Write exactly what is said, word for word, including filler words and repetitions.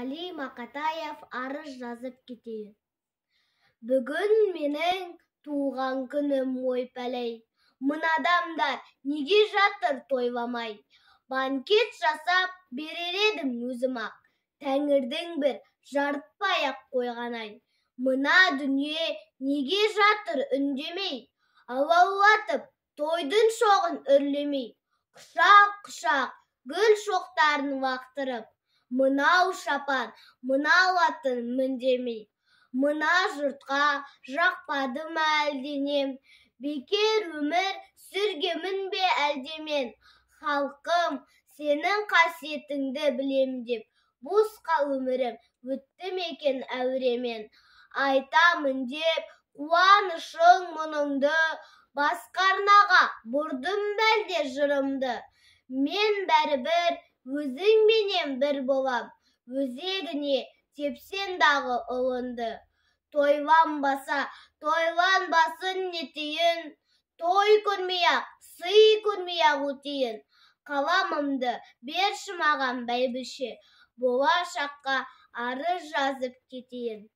Али Мақатаев арыз жазып кетейін. Бүгін менің туған күнім ойпәлей. Мына адамдар неге жатыр тойламай? Банкет жасап берер едім өзім-ақ. Тәңірдің бір жарытпай-ақ қойған-ай. Мына дүние неге жатыр үндемей? Алаулатып тойдың шоғын үрлемей. Құшақ-құшақ гүл шоқтарын лақтырып, мынау шапан, мынау атын міндемей. Мына жұртқа жақпады ма әлденем? Бекер өмір сүргемін бе әлде мен? Халқым, сенің қасиетіңді білем деп, босқа өмірім өтті мекен әуремен? Айтамын деп қуанышың мұныңды, басқа арнаға бұрдым бәлде жырымды. Мен бәрібір өзіңменен бір болам, өзегіне тепсең дағы ұлынды. Тойланбаса, тойланбасын нетейін, той көрмей-ақ, сый көрмей-ақ өтейін. Қаламымды берші маған бәйбіше, болашаққа арыз жазып кетейін.